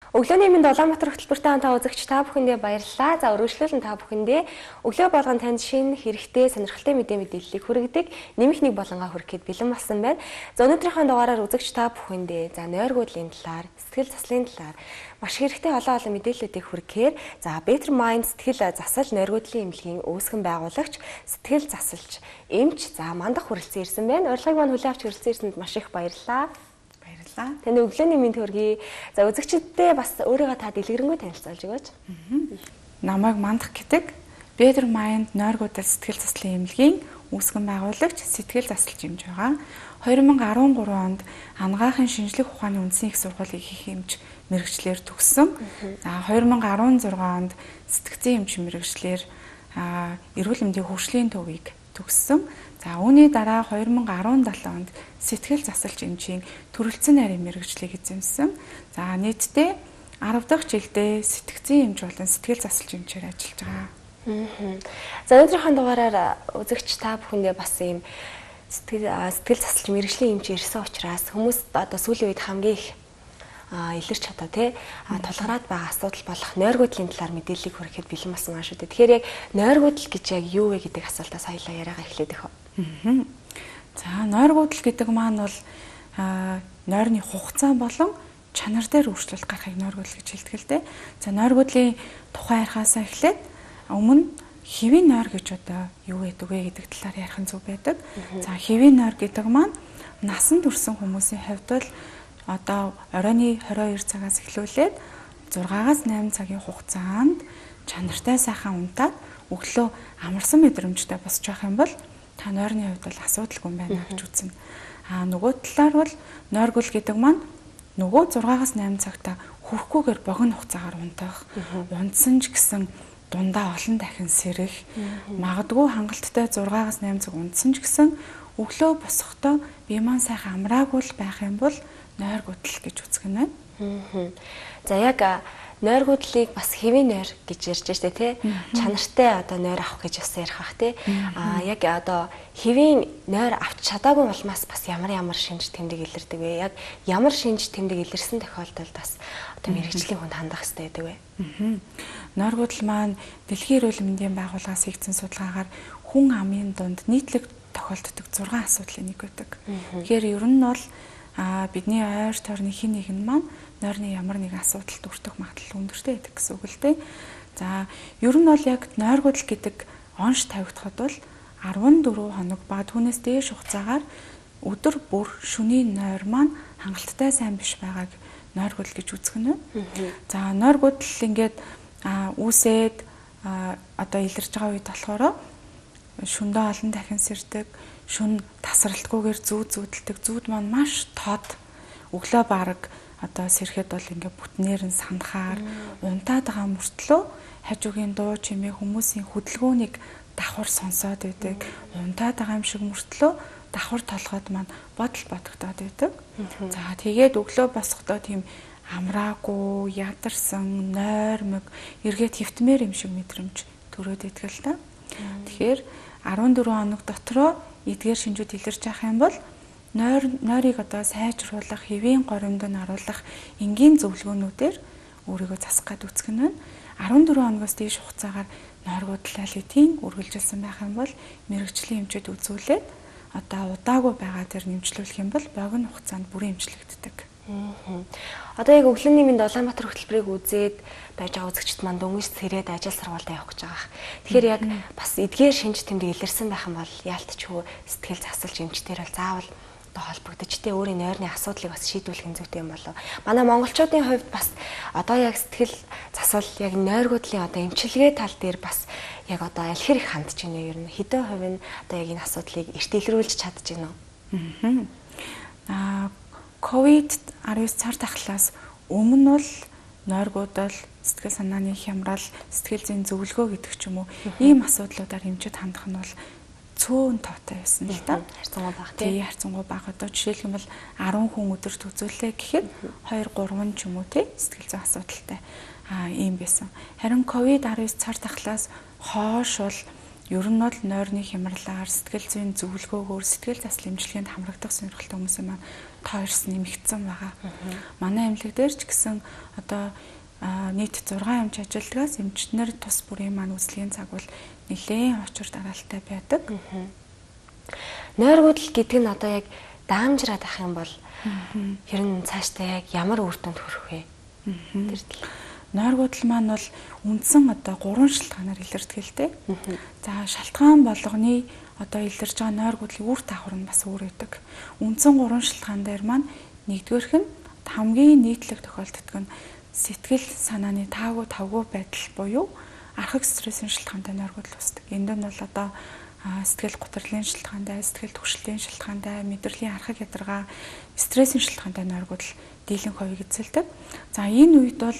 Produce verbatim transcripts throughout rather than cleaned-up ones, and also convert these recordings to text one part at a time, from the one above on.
Өглөөний минь Улаанбаатар хөтөлбөртэй хамтаа үзэгч та бүхэндээ баярлалаа. За өргөжлүүлэн та бүхэндээ өглөө болгон танд шинэ хэрэгтэй сонирхолтой мэдээ мэдээллийг хүргэдэг нэмэх нэг болонгаа хүргэхэд бэлэн болсон байна. За өнөөдрийнхөө дугаараар үзэгч та бүхэндээ за нойргуудлын талаар, сэтгэл заслын талаар маш хэрэгтэй олон олон мэдээллүүдийг хүргэхээр за Better Mind сэтгэл засал нойргуудлын эмнэлгийн үүсгэн байгуулагч, сэтгэл засалч, эмч за мандах хүрэлцэн ирсэн байна. Урилгыг мань хүлээн авч хүрэлцэн ирсэнд маш их баярлалаа. Таны өглөөний мэнд хүргэе. За үзэгчдэдээ бас өөрийгөө та дэлгэрэнгүй танилцуулж өгөөч. Намайг Мандах гэдэг Better Mind нойргуудал сэтгэл заслын эмнэлгийн үүсгэн байгуулагч, сэтгэл засалч эмч байгаа. хоёр мянга арван гурван онд анагаахын шинжлэх ухааны үндэсний их сургуулийг их эмч мэргэжлэр төгссөн. За хоёр мянга арван зургаан онд сэтгцэн эмч мэргэжлэр эрүүл мэндийн хөгжлийн төвийг төгссөн. За үүний дараа хоёр мянга арван долоо онд сэтгэл засалч эмчийн төрөлцсөн нарийн мэргэжлийг эзэмсэн. За нийтдээ арав дахь жилдээ сэтгцэн эмч болон сэтгэл засалч эмчээр ажиллаж байгаа. За өнөөдрийнхөө дугаараар үзэгч та бүхэндээ бас ийм сэтгэл сэтгэл засалч мэргэжлийн эмч ирсэн учраас хүмүүс одоо сүүлийн үед хамгийн их илэрч чадаа тий тулгараад байгаа асуудал болох нойргуудлын талаар мэдээллийг хүргэхэд бэлэн болсон аа шүү дээ. Тэгэхээр яг нойргуудл гэж яг юу вэ гэдэг асуултаас хоёлаа яриагаа эхлээд өгөө. За нойргуудл гэдэг маань бол нойрны хугацаа болон чанар дээр өөрчлөлт гарахыг нойргуудл гэж хэлдэг л дээ. За нойргуудлын тухай ярихаасаа эхлээд өмнө хэвийн нойр гэж одоо юу гэдэг вэ гэдэг талаар ярих нь зөв байдаг. За хэвийн нойр гэдэг маань насан турсан хүмүүсийн хувьд бол одоо оройны хорин хоёр цагаас эхлүүлээд зургаас найман цагийн хугацаанд чанартай сайхан унтаад өглөө амарсан мэдрэмжтэй босч явах юм бол та нойрны хувьд бол асуудалгүй байна гэж үзнэ. Аа нөгөө талаар бол нойргул гэдэг маань нөгөө зургаас найман цагта хүрхгүйгээр богино хугацаагаар унтах, унтсан ч гэсэн дундаа олон дахин сэрэх, магадгүй хангалттай зургаас найман цаг унтсан ч гэсэн өглөө босохдоо бие маань сайхан амраагүй байх юм бол нойргуудл гэж үзгэнэ. За яг нойргуудлыг бас хэвийн нойр гэж ярьж штэ тий. Чанартай одоо нойр авах гэж бас ярих бах тий. Аа яг одоо хэвийн нойр авч чадаагүй болмаас бас ямар ямар шинж тэмдэг илэрдэг вэ? Яг ямар шинж тэмдэг илэрсэн тохиолдолд бас одоо мэрэгжлийн хүнд хандах хэрэгтэй байдаг вэ? Нойргуудл маань Дэлхийн эрүүл мэндийн байгууллагаас хийгдсэн судалгаагаар хүн амын дунд нийтлэг тохиолддог зургаан асуудлын нэг байдаг. Тэгэхээр ер нь бол а бидний ойр тойрны хин нэг нь маань нойрны ямар нэгэн асуудалд өртөх магадлал өндөртэй байдаг гэсэн үг л дээ. За ер нь бол яг нойргуудл гэдэг онш тавигдахад бол арван дөрвөн хоног ба түүнээс дээш хугацаагаар өдөр бүр шөнийн нойр маань хангалттай сайн биш байгааг нойргуудл гэж үзгэнэ. За нойргуудл ингээд үүсээд одоо илэрж байгаа үед болохоор шөндөө олон дахин сэрдэг, шүн тасралтгүйгээр зүүд зүүдэлдэг, зүүд маань маш тод. Өглөө бараг одоо сэрэхэд бол ингээ бүтнээр нь санахаар унтаад байгаа мөртлөө хажуугийн дуу чимээ хүмүүсийн хөдөлгөөнийг давхар сонсоод байдаг. Унтаад байгаа юм шиг мөртлөө давхар толгойд маань бодол бодогдоод байдаг. За тэгээд өглөө босохдоо тийм амраагүй, ядарсан, нойрмог, эргээд хөвтмээр юм шиг мэдрэмж төрөөд идэх л та. Тэгэхээр арван дөрвөн хоног дотроо эдгээр шинжүүд илэрч явах юм бол нойр нойрыг одоо сайжруулах, хэвийн горимд нь оруулах энгийн зөвлөгөөнүүдээр өөрийгөө засах гээд үзгэн байна. арван дөрвөн хоногоос дээш хугацаагаар нойргуудлал эдийн үргэлжилсэн байх юм бол мэрэгжлийн эмчэд үзүүлээд одоо удаагүй байгаа дээр нэмжлүүлэх юм бол богино хугацаанд бүрэн эмчлэгддэг. Одоо яг өглөөний минь Улаанбаатар хөтөлбөрийг үзээд байж байгаа үзэгчд манд дөнгөж сэрээд ажил сургуультай явах гэж байгаа. Тэгэхээр яг бас эдгээр шинж тэмдэг илэрсэн байх юм бол яалтчгүй сэтгэл засалж эмчтэр бол заавал одоо холбогдож тэ өөрийн нойрны асуудлыг бас шийдвэрлэх зүйтэй юм болов. Манай монголчуудын хувьд бас одоо яг сэтгэл засал яг нойргуудлын одоо эмчилгээ тал дээр бас яг одоо аль хэрэг хандж байна вэ? Ер нь хэдэн хувь нь одоо яг энэ асуудлыг эрт илрүүлж чадж байна уу? Аа ковид арван цар тахлаас өмнө бол нойргуудал, сэтгэл санааны хямрал, сэтгэл зүйн зөвлөгөө гэдэг ч юм уу ийм асуудлуудаар эмчид хандах нь бол цөөн тоотой байсан л да. Харьцангуй бага тий. Харьцангуй бага. Одоо жишээлх юм бол арван хүн өдөрт үзүүлээ гэхэд хоёр гурван ч юм уу тий сэтгэл зүйн асуудалтай аа ийм байсан. Харин ковид арван цар тахлаас хойш бол ер нь бол нойрны хямралаар, сэтгэл зүйн зөвлөгөөгөөр сэтгэл заслын эмчилгээнд хамрагдах сонирхолтой хүмүүсийн маань тоо эрс нэмэгдсэн байгаа. Манай эмнэлэг дээр ч гэсэн одоо нийт зургаан эмч ажилтгаас эмчнэр тус бүрийн маань үзлэгийн цаг бол нэлээд очир дараалтай байдаг. Нойргуудл гэдэг нь одоо яг даамжраад ах юм бол ер нь цаашдаа яг ямар үр дүнд хүрэх вэ? Тэр л нойргуудл маань бол үндсэн одоо гурван шалтгаанаар илэрдэг л дээ. За шалтгаан болгоны одоо илэрж байгаа нойргуудлын үр дагавар нь бас өөр байдаг. Үндсэн гурван шалтгаан дээр маань нэгдүгээрх нь хамгийн нийтлэг тохиолддог нь сэтгэл санааны таагүй тавгүй байдал буюу архаг стрессийн шалтгаантай нойргуудл үүсдэг. Энд нь бол одоо сэтгэл гутралын шалтгаантай, сэтгэл түгшлийн шалтгаантай, мэдрэлийн архаг ядаргаа, стрессийн шалтгаантай нойргуудл дийлэн хувийг эзэлдэг. За энэ үед бол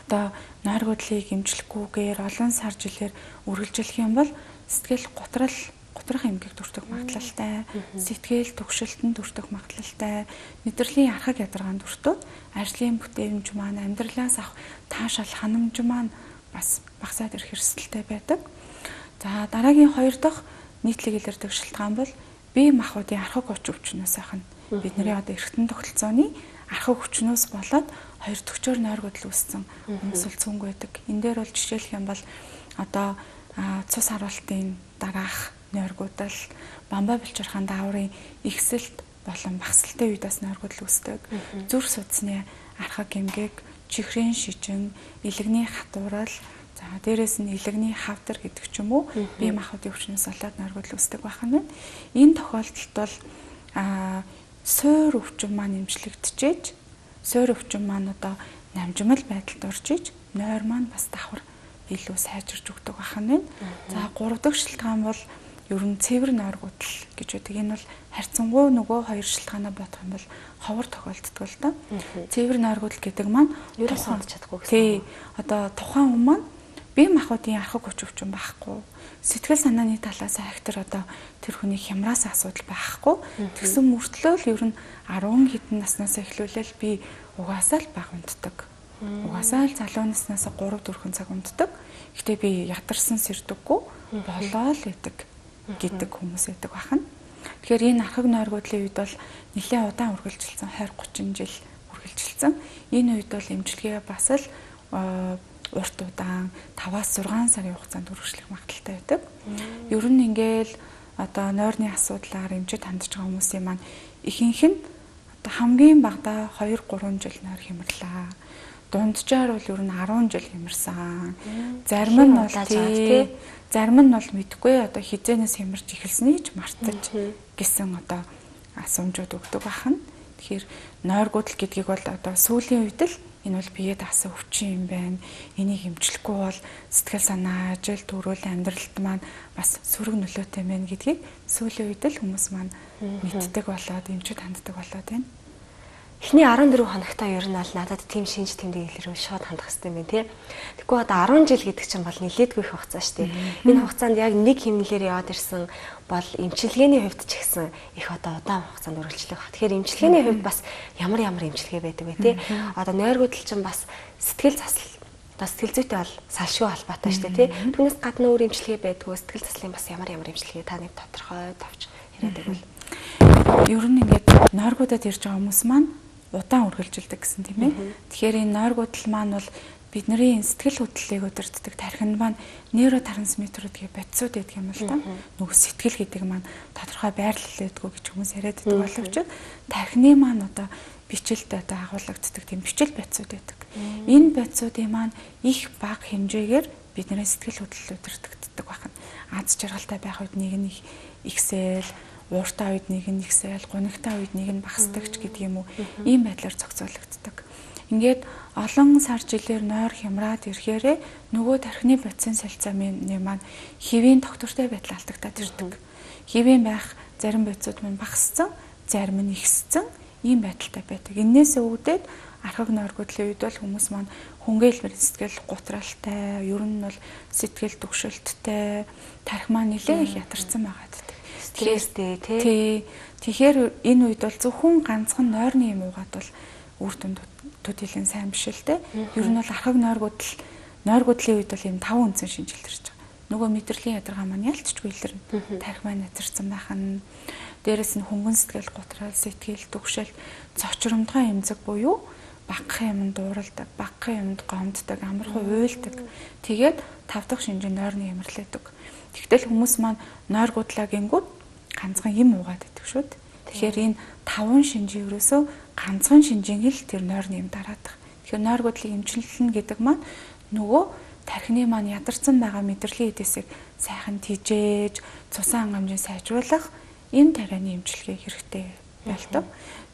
одоо нойргуудлыг эмчлэхгүйгээр олон сар жилээр үргэлжлэх юм бол сэтгэл гутрал гутрах эмгэг дүртэх магадлалтай, сэтгэл түгшилтэн дүртэх магадлалтай, мэдрэлийн архаг ядаргаанд дүртүүд ажлын бүтээмж маань, амьдралаас авах таашаал ханамж маань бас багасаад ирэх эрсдэлтэй байдаг. За дараагийн хоёр дахь нийтлэг илэрдэг шалтгаан бол бие махбодын архаг хүч өвчнөөс ахна. Бидний одоо эргэтэн тогтолцооны архаг хүчнөөс болоод хоёр төгчөөр нойргуудл үүссэн хүмүүс л цөөнгүй байдаг. Энэ дээр бол жишээлх юм бол одоо цус харуултын дараах нойргуудл, бамбай булчирхаан дааврын ихсэлт болон багсалтай үедээс нойргуудл үүсдэг. Зүрх судасны архаг эмгэг, чихрийн шижин, илэгний хатуурал, за дээрэс нь илэгний хавдар гэдэг ч юм уу бие махбодын өвчнөөс болоод нойргуудл үүсдэг байх нь. Энэ тохиолдолд бол суур өвчин маань эмчлэгдчихэж, суур өвчин маань одоо намжимал байдалд орж иж, нойр маань бас давхар илүү сайжирч өгдөг байх нь. За гурав дахь шалтгаан бол ер нь цэвэр нойргуудл гэж байдаг. Энэ бол харьцангуй нөгөө хоёр шалтгаанаа бодох юм бол ховор тохиолддог л да. Цэвэр нойргуудл гэдэг маань ерөөс хандж чадахгүй гэсэн. Тий. Одоо тухайн хүн маань бие махбодын архаг хүч өвчин байхгүй. Сэтгэл санааны талаас ахтар одоо тэр хүний хямраас асуудал байхгүй. Тэгсэн мөртлөө л ер нь арван хэдэн наснаас эхлүүлэл би угаасаа л баг унтдаг. Угаасаа л залуу наснаас гурав дөрвөн цаг унтдаг. Гэтэ би ядарсан сэрдэггүй болоо л идэг гэдэг хүмүүс байдаг бахан. Тэгэхээр энэ архаг нойргуудлын үед бол нэлээд удаан үргэлжилсэн двадцать тридцать жил үргэлжилсэн. Энэ үед бол эмчилгээ бас л урт удаан таваас зургаан сарын хугацаанд үргэлжлэх магадлалтай байдаг. Ер нь ингээл одоо нойрны асуудлаар эмчид хандж байгаа хүмүүсийн маань ихэнх нь одоо хамгийн багадаа хоёр гурван жил нойр хямрлаа. Дунджаар бол ер нь арван жил хямарсан. Зарим нь бол тий, зарим нь бол мэдгүй одоо хизээнээс хямарч эхэлснийг ч мартаж гэсэн одоо асуумжууд өгдөг бахан. Тэгэхээр нойргуудл гэдгийг бол одоо сүүлийн үед л энэ бол биед авсан өвчин юм байна. Энийг эмчлэхгүй бол сэтгэл санаа, ажил, төрөл, амьдралд маань бас сөрөг нөлөөтэй байна гэдгийг сүүлийн үед л хүмүүс маань мэддэг болоод эмчид ханддаг болоод байна. Эхний арван дөрөв хоногтой ер нь бол надад тийм шинж тэмдэг илэрвэн шууд хандах хэрэгтэй юм байна тий. Тэгэхгүй одоо арван жил гэдэг чинь бол нэлээдгүй их хугацаа шүү дээ. Энэ хугацаанд яг нэг хэмнэлээр яваад ирсэн бол эмчилгээний хувьд ч гэсэн их одоо удаан хугацаанд үргэлжлэх баг. Тэгэхээр эмчилгээний хувьд бас ямар ямар эмчилгээ байдаг вэ тий. Одоо нойргуудл чинь бас сэтгэл засал одоо сэтгэл зүйтэй бол салшгүй холбоотой шүү дээ тий. Түүнээс гадна өөр эмчилгээ байдгүй сэтгэл заслын бас ямар ямар эмчилгээ та нэг тодорхой тавьж яриад байвал. Ер нь ингээд нойргуудад ирж байгаа хүмүүс маань удаан үргэлжилдэг гэсэн тийм ээ. Тэгэхээр энэ нойргуудл маань бол бидний сэтгэл хөдлөлийг удирддаг тархинд маань нейротрансмиттерүүд гэх бодисууд байдаг юм л да. Нөгөө сэтгэл гэдэг маань тодорхой байрлал өгдөг гэж хүмүүс яриад байдаг боловч тархины маань одоо бичлэлд одоо агуулгаддаг тийм бичил бодисууд байдаг. Энэ бодисуудын маань их бага хэмжээгээр бидний сэтгэл хөдлөл удирддаг байна. Аз жаргалтай байх үед нэг нь ихсэл, ууртай үед нэг нь ихсэл, гунигтай үед нэг нь багасдаг ч гэдэг юм уу. Ийм байдлаар зохицуулагддаг. Ингээд олон сар жилээр нойр хямраад ирэхээрээ нөгөө тархины бодисын солилцоомын маань хэвийн доктортой байдал алдагдаад ирдэг. Хэвийн байх зарим бодисууд маань багассан, зарим нь ихссэн ийм байдалтай байдаг. Иннээс үүдээд архаг нойргуудлын үед бол хүмүүс маань хүнгээл сэтгэл гутралтай, ер нь бол сэтгэл түгшилттэй, тархи маань нэлээд их ядарсан байгаа гэдэг. Стресстэй тий. Тэгэхээр энэ үед бол зөвхөн ганцхан нойрны юм уугаад бол үр дүнд төдийлэн сайн биш л дээ. Ер нь бол архаг нойргуудл нойргуудлын үед бол ийм таван үндсэн шинжилт ирж байгаа. нөгөө мэдрэлийн ядаргаа маань ялцчгүй илэрнэ. Тарих маань назарсан байх нь. Дээрэс нь хөнгөн сэтгэл, гутрал, сэтгэл, түгшэл, цочромдгой эмзэг буюу багахан юмд дууралдаг, багахан юмд гомддог, амархан уйлдаг. Тэгээд тав дахь шинжээ нойрны ямарлаадаг. Тэгтэл хүмүүс маань нойр гудлаа гингүүд ганцхан юм уугаад байдаг шүү дээ. Тэгэхээр энэ таван шинжийн ерөөсөө ганцхан шинжийн хэл тэр нойрны юм дараадах. Тэгэхээр нойр гудлыг эмчилнэ гэдэг маань нөгөө тархины маань ядарсан байгаа мэдрэлийн эдээсийг сайхан тижээж, цусан хангамжийг сайжруулах энэ тарианы эмчилгээ хэрэгтэй байлдаг.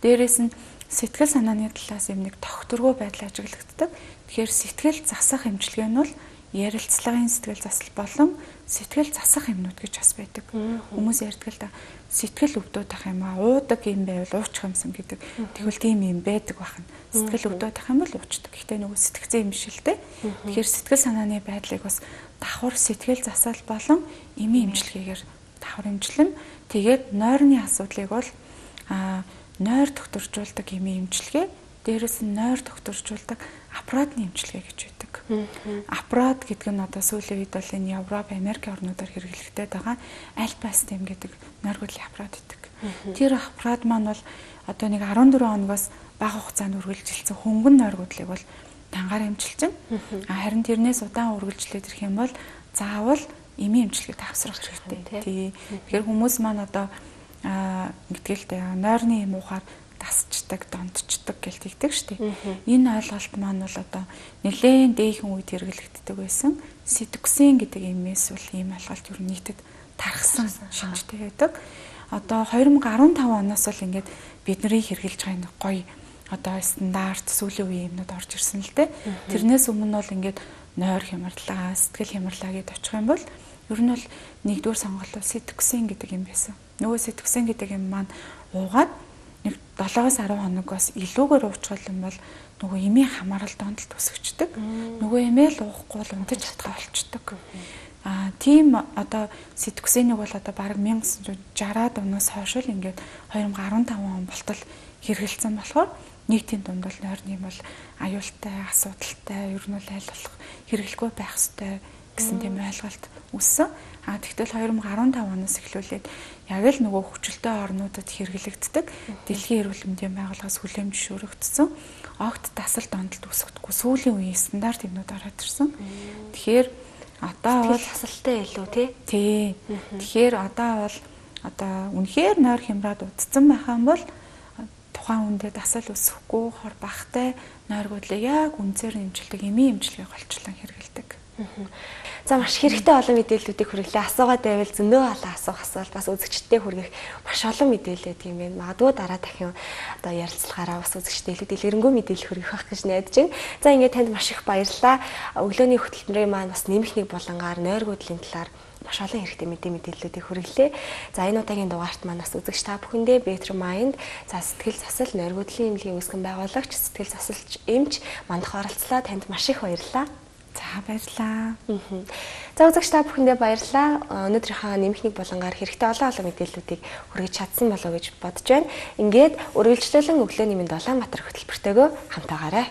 Дээрээс нь сэтгэл санааны талаас юм нэг тогтворгүй байдал ажиглагддаг. Тэгэхээр сэтгэл засах эмчилгээ нь бол ярилцлагын сэтгэл засал болон сэтгэл засах юмнууд гэж бас байдаг. Хүмүүс ярьдаг л да сэтгэл өвдөд ах юм аа, уудаг юм байвал уучих юмсан гэдэг. Тэгвэл тийм юм байдаг бахна. Сэтгэл өвдөд ах юм бол уучдаг. Гэхдээ нөгөө сэтгцэн юм биш л дээ. Тэгэхээр сэтгэл санааны байдлыг бас давхар сэтгэл засал болон эмийн эмчилгээгээр давхар эмчилнэ. Тэгээд нойрны асуудлыг бол а нойр докторжуулдаг эмийн эмчилгээ, дээрээс нь нойр докторжуулдаг аппаратны эмчилгээ гэж байдаг. Аппарат гэдэг нь одоо сүүлийн үед бол энэ Европ, Америк орнуудаар хэрэглэгдээд байгаа альпастем гэдэг нойр гудлын аппарат гэдэг. Тэр аппарат маань бол одоо нэг арван дөрвөн хоногоос бага хугацаанд үргэлжилсэн хөнгөн нойр гудлыг бол дангаар эмчилж байна. Харин тэрнээс удаан үргэлжлээд ирэх юм бол заавал эмийн эмчилгээ тавсрах хэрэгтэй. Тий. Тэгэхээр хүмүүс маань одоо аа гэдгэлтэй нойрны юм уухаар тасчдаг, дондчдаг гэж тэгдэг шүү дээ. Энэ ойлголт маань бол одоо нэлээд дээхэн үед хэрэглэгддэг байсан. Ситоксин гэдэг эмээс бол ийм ойлголт юу нийтэд тархсан шинжтэй байдаг. Одоо две thousand fifteen оноос бол ингээд бидний хэрэгжилж байгаа нэг гоё одоо стандарт сүүлийн үеийн юмнууд орж ирсэн л дээ. Тэрнээс өмнө бол ингээд нойр хямралаа, сэтгэл хямралаа гэдээ очих юм бол ер нь бол нэгдүгээр сонголт ситоксин гэдэг юм байсан. Нөгөө ситоксин гэдэг юм маань уугаад нэг долоос арван хоногоос илүүгээр уучвал юм бол нөгөө эмийн хамаарал дондолт өсөгчдөг. Нөгөө эмээ л уухгүй бол унтаж чадгаа болчдөг. Аа тийм одоо ситоксиныг бол одоо бараг nineteen sixty-аад оноос хойш л ингээд twenty fifteen он болтол хэрэгэлсэн болохоор нийтийн дунд бол нойрны юм бол аюултай, асуудалтай, ер нь бол аль болох хэрэглэхгүй байх ёстой гэсэн тийм ойлголт үссэн. А тэгтэл twenty fifteen оноос эхлүүлээд яг л нөгөө хүчилтэй орнуудад хэрэглэгддэг Дэлхийн эрүүл мэндийн байгууллагаас хүлээмж шүүрэгдсэн огт тасал дондолт үсгэдэггүй сүүлийн үеийн стандарт юмнууд ороод ирсэн. Тэгэхээр одоо бол тасалтай илүү тий. Тий. Тэгэхээр одоо бол одоо үнэхээр нойр хямраад удцсан байх юм бол тухайн хүндээ дасал өсөхгүй хор бахтай нойр гудлыг яг үнцээр нэмжилдэг эмийн эмчилгээ голчлон хэрэгэлдэг. За маш хэрэгтэй олон мэдээллүүдийг хүргэлээ. Асуугаад байвал зөндөө олон асуух асуулт бас үзэгчдэд хүргэх маш олон мэдээлэл байдаг юм байна. Магадгүй дараа дахин одоо ярилцлагаараа бас үзэгчдэд илүү дэлгэрэнгүй мэдээлэл хүргэх байх гэж найдаж байна. За ингээд танд маш их баярлалаа. Өглөөний хөтөлбөрийн маань бас нэмэх нэг булангаар нойр гудлын талаар маш олон хэрэгтэй мэдээ мэдээллүүдийг хүргэлээ. За энэ удаагийн дугаарт маань бас үзэгч та бүхэндээ Better Mind, за сэтгэл засал, нойр гудлын эмнэлгийн үүсгэн байгуулагч, сэтгэл засалч эмч мандах оролцлоо. Танд маш их баярлалаа. За баярлалаа. За үзэгч та бүхэндээ баярлалаа. Өнөөдрийнхөө нэмэх нэг булангаар хэрэгтэй олон олон мэдээллүүдийг хүргэж чадсан болов уу гэж бодож байна. Ингээд үргэлжлүүлэн өглөөний мэнд Улаанбаатар хөтөлбөртэйгөө хамтаагаарай.